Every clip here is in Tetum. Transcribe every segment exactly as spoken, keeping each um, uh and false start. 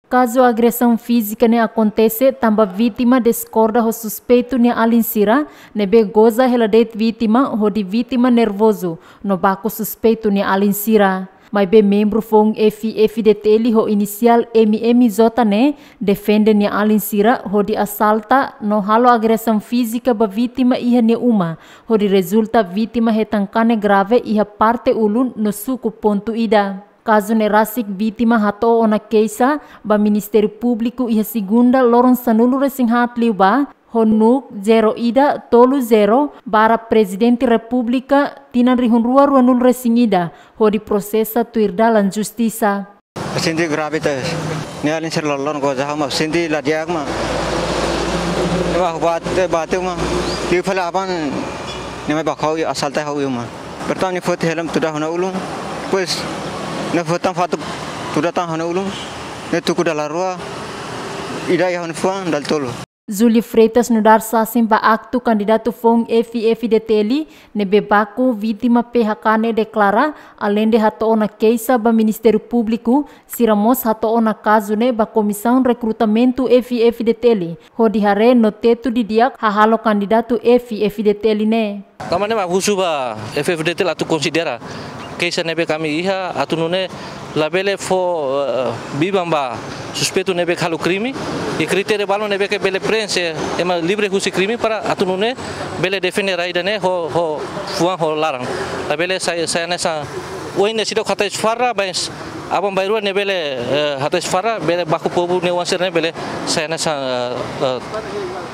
Kazu agresaun fízika ne'e akontese tanba vítima diskorda ho suspeitu nia alin sira, ne'ebé goza hela de'it vítima hodi vítima nervozu no baku suspeitu nia alin sira. Maibé membru foun F-FDTL ho inisiál M M J ne'e defende nia alin sira hodi asalta no halo agresaun fízika ba vítima iha nia uma, hodi rezulta vítima hetan kanek grave iha parte ulun no suku pontu ida. Kazu ne'e rasik vítima hato'o ona keixa ba Ministériu Públiku iha segunda loron sanulu-resin-haat liubá, ho NUC zero ida tolu zero barra Prezidente Repúblika tinan rihun rua ruanulu-resin-ida, hodi prosesa tuir dalan justisa. Sente grave tebes. Nia alin sira loroloron goza ha'u, ma sente la di'ak, ma. Ema bate, bate, ma. Liu fali aban, nia mai baku ha'u, asalta ha'u, ma. Pertama nia foti helm tuda ha'u-nia ulun. Depois, nia foti tan fatuk tuda tan ha'u-nia ulun. Nia tuku dala rua, ida iha ha'u-nia fuan, dala tolu. Júlio Freitas nu'udar sasin ba aktu kandidatu foun F-FDTL ne'ebé baku vítima P H K ne'e deklara, aleinde hato'o ona keixa ba Ministériu Públiku, sira mós hato'o ona kazu ne'e ba Komisaun Rekrutamentu F-FDTL, hodi haree no tetu didi'ak hahalok kandidatu F-FDTL ne'e. Tanba ne'e mak husu ba F-FDTL atu konsidera keixa ne'ebé ami iha, atu nune'e labele fó, eh, biban ba suspeitu ne'ebé halo krime, i kritéria balun ne'ebé bele prenxe ema livre husi krime para atu nune'e bele defende rai ida-ne'e ho, ho fuan ho laran. Labele sai, sai hanesan oin ne'e seidauk hatais farra, mas aban-bainrua ne'e bele, eh, hatais farra, bele baku povu nia oan sira-ne'e bele sai hanesan, eh,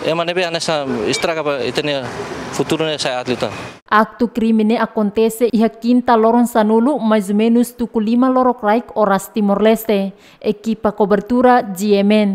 eh, ema ne'ebé hanesan estraga ba ita-nia futuru ne'e sai aat liután. Aktu krime ne'e akontese iha kinta loron sanulu, mais ou menus tuku lima lorokraik oras Timor-Leste. Ekipa kobertura G M N.